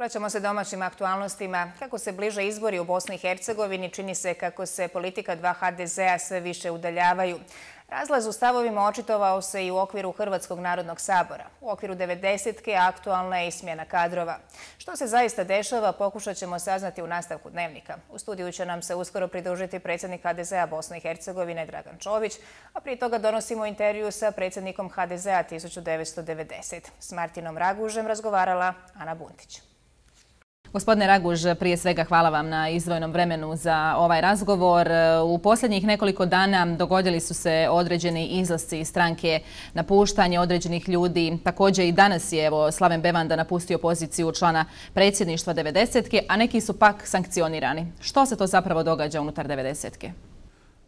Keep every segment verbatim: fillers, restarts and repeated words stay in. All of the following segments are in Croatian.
Vraćamo se domaćim aktualnostima. Kako se bliže izbori u Bosni i Hercegovini, čini se kako se politika dva ha de zea sve više udaljavaju. Razlaz u stavovima očitovao se i u okviru Hrvatskog narodnog sabora. U okviru devedesetke aktualna je i smjena kadrova. Što se zaista dešava, pokušat ćemo saznati u nastavku Dnevnika. U studiju će nam se uskoro pridružiti predsjednik ha de zea Bosne i Hercegovine Dragan Čović, a prije toga donosimo intervju sa predsjednikom ha de zea tisuću devetsto devedesete. S Martinom Ragužem razgovarala Ana Buntić. Gospodine Raguž, prije svega hvala vam na izdvojenom vremenu za ovaj razgovor. U posljednjih nekoliko dana dogodili su se određeni izlasci iz stranke, napuštanje određenih ljudi. Također i danas je evo, Slaven Bevanda napustio poziciju člana predsjedništva devedesetke, a neki su pak sankcionirani. Što se to zapravo događa unutar devedesetke?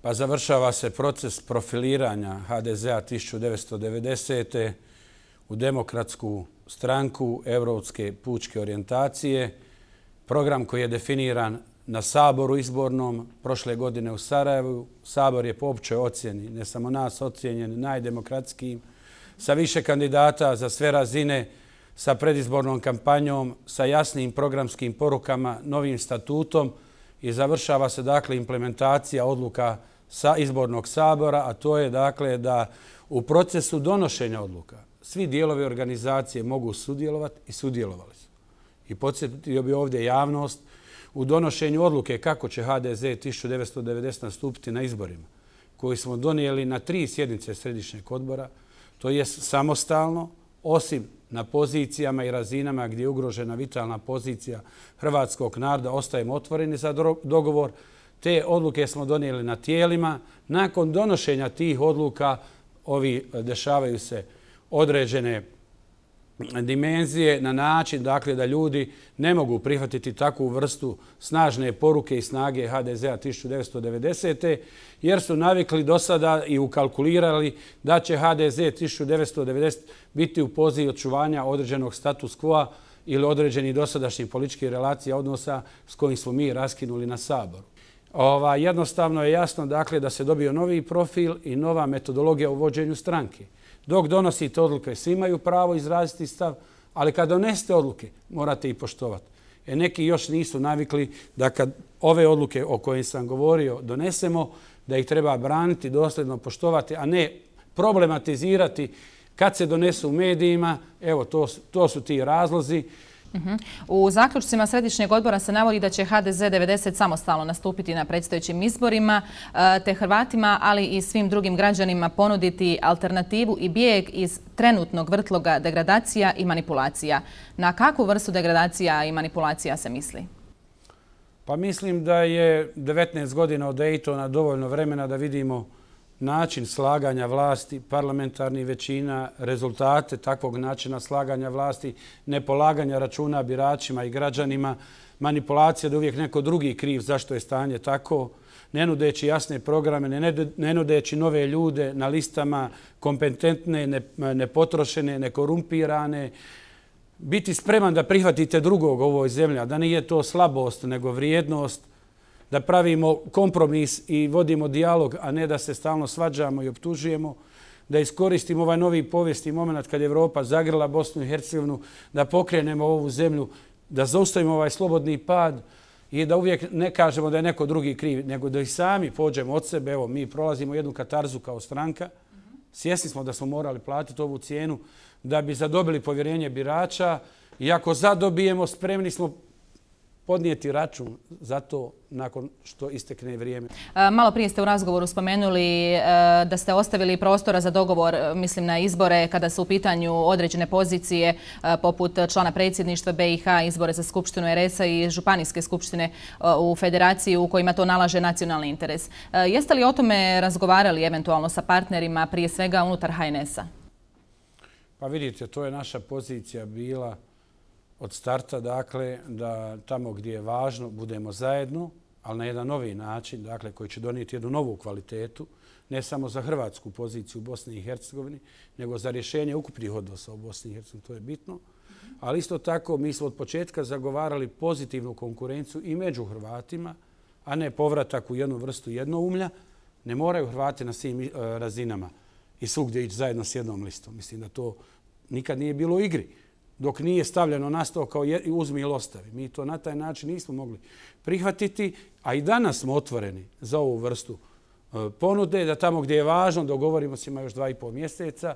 Pa završava se proces profiliranja ha de zea tisuću devetsto devedesete u demokratsku stranku evropske pučke orijentacije. Program koji je definiran na Saboru izbornom prošle godine u Sarajevu. Sabor je po općoj ocjeni, ne samo nas, ocijenjen najdemokratskijim, sa više kandidata za sve razine, sa predizbornom kampanjom, sa jasnim programskim porukama, novim statutom i završava se dakle implementacija odluka sa izbornog sabora, a to je dakle da u procesu donošenja odluka svi dijelovi organizacije mogu sudjelovati i sudjelovali su. I podsjetio bi ovdje javnost u donošenju odluke kako će ha de ze tisuću devetsto devedesete nastupiti na izborima, koji smo donijeli na tri sjednice Središnjeg odbora, to je samostalno, osim na pozicijama i razinama gdje je ugrožena vitalna pozicija hrvatskog naroda, ostajemo otvoreni za dogovor. Te odluke smo donijeli na tijelima. Nakon donošenja tih odluka ovi dešavaju se određene dimenzije na način dakle, da ljudi ne mogu prihvatiti takvu vrstu snažne poruke i snage ha de zea tisuću devetsto devedesete jer su navikli do sada i ukalkulirali da će ha de ze tisuću devetsto devedesete biti u poziciji očuvanja određenog status quo ili određenih dosadašnjih političkih relacija odnosa s kojim smo mi raskinuli na Saboru. Ova, jednostavno je jasno dakle, da se dobio novi profil i nova metodologija u vođenju stranke. Dok donosite odluke, svi imaju pravo izraziti stav, ali kad donesete odluke, morate ih poštovati. E neki još nisu navikli da kad ove odluke o kojim sam govorio donesemo, da ih treba braniti, dosljedno poštovati, a ne problematizirati kad se donesu u medijima. Evo, to, to su ti razlozi. U zaključcima Središnjeg odbora se navodi da će ha de ze devedeset samostalno nastupiti na predstojećim izborima, te Hrvatima, ali i svim drugim građanima ponuditi alternativu i bijeg iz trenutnog vrtloga degradacija i manipulacija. Na kakvu vrstu degradacija i manipulacija se misli? Pa mislim da je devetnaest godina od Daytona dovoljno vremena da vidimo način slaganja vlasti, parlamentarnih većina, rezultate takvog načina slaganja vlasti, nepolaganja računa biračima i građanima, manipulacija da uvijek neko drugi kriv zašto je stanje tako, ne nudeći jasne programe, ne nudeći nove ljude na listama, kompetentne, nepotrošene, nekorumpirane, biti spreman da prihvatite drugog u ovoj zemlji, a da nije to slabost nego vrijednost, da pravimo kompromis i vodimo dijalog, a ne da se stalno svađamo i optužujemo, da iskoristimo ovaj novi povijesni moment kad je Evropa zagrla Bosnu i Hercegovinu, da pokrenemo ovu zemlju, da zaustavimo ovaj slobodni pad i da uvijek ne kažemo da je neko drugi kriv, nego da i sami pođemo od sebe. Evo, mi prolazimo jednu katarzu kao stranka. Svjesni smo da smo morali platiti ovu cijenu da bi zadobili povjerenje birača i ako zadobijemo, spremni smo podnijeti račun za to nakon što istekne vrijeme. Malo prije ste u razgovoru spomenuli da ste ostavili prostora za dogovor, mislim na izbore, kada su u pitanju određene pozicije poput člana predsjedništva be i ha, izbore za Skupštinu er es a i županijske skupštine u federaciji u kojima to nalaže nacionalni interes. Jeste li o tome razgovarali eventualno sa partnerima, prije svega unutar ha en es a? Pa vidite, to je naša pozicija bila od starta, dakle, da tamo gdje je važno budemo zajedno, ali na jedan novi način, dakle, koji će donijeti jednu novu kvalitetu, ne samo za hrvatsku poziciju u Bosni i Hercegovini, nego za rješenje ukupnih odnosa u Bosni i Hercegovini, to je bitno. Ali isto tako mi smo od početka zagovarali pozitivnu konkurenciju i među Hrvatima, a ne povratak u jednu vrstu jednoumlja. Ne moraju Hrvati na svim razinama i svugdje ići zajedno s jednom listom. Mislim da to nikad nije bilo u igri. dok nije stavljeno na sto kao uzmi ili ostavi. Mi to na taj način nismo mogli prihvatiti, a i danas smo otvoreni za ovu vrstu ponude, da tamo gdje je važno dogovorimo se ima još dva i pol mjeseca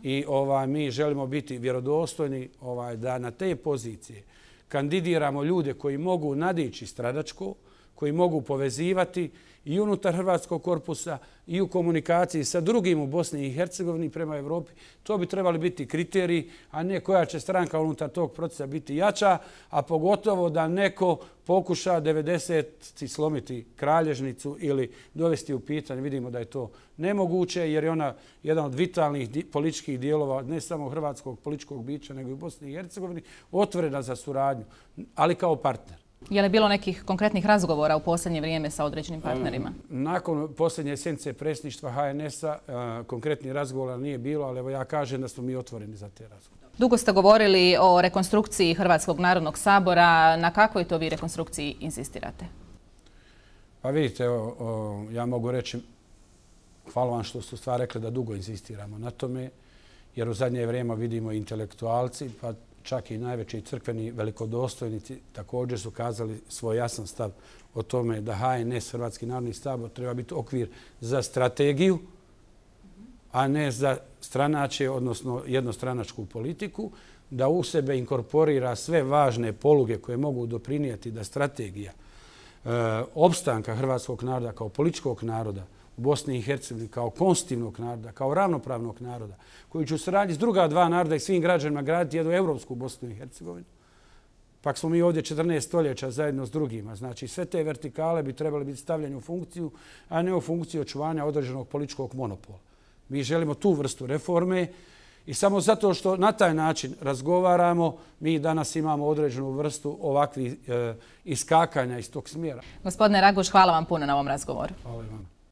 i ovaj, mi želimo biti vjerodostojni ovaj, da na te pozicije kandidiramo ljude koji mogu nadići stranačko, koji mogu povezivati i unutar Hrvatskog korpusa i u komunikaciji sa drugim u Bosni i Hercegovini prema Evropi. To bi trebali biti kriteriji, a ne koja će stranka unutar tog procesa biti jača, a pogotovo da neko pokuša devedeseti slomiti kralježnicu ili dovesti u pitanje. Vidimo da je to nemoguće jer je ona jedan od vitalnih političkih dijelova ne samo hrvatskog političkog bića nego i u Bosni i Hercegovini otvorena za suradnju, ali kao partner. Je li bilo nekih konkretnih razgovora u posljednje vrijeme sa određenim partnerima? Nakon posljednje sjednice predsjedništva H N S-a konkretnih razgovora nije bilo, ali evo ja kažem da smo mi otvoreni za te razgovore. Dugo ste govorili o rekonstrukciji Hrvatskog narodnog sabora. Na kakvoj to vi rekonstrukciji insistirate? Pa vidite, evo, ja mogu reći, hvala vam što ste stvar rekli da dugo insistiramo na tome, jer u zadnje vrijeme vidimo intelektualci, pa čak i najveći crkveni velikodostojnici također su kazali svoj jasan stav o tome da H N S, Hrvatski narodni sabor, treba biti okvir za strategiju, a ne za stranačje, odnosno jednostranačku politiku, da u sebe inkorporira sve važne poluge koje mogu doprinijeti da strategija e, opstanka hrvatskog naroda kao političkog naroda u Bosni i Hercegovini kao konstitutivnog naroda, kao ravnopravnog naroda, koji će u saradnji s druga dva naroda i svim građanima graditi jednu evropsku Bosnu i Hercegovinu. Pak smo mi ovdje četrnaest stoljeća zajedno s drugima. Znači, sve te vertikale bi trebali biti stavljene u funkciju, a ne u funkciju očuvanja određenog političkog monopola. Mi želimo tu vrstu reforme i samo zato što na taj način razgovaramo, mi danas imamo određenu vrstu ovakvih e, iskakanja iz tog smjera. Gospodine Raguž, hvala vam puno na ovom razgovoru. Hvala vam.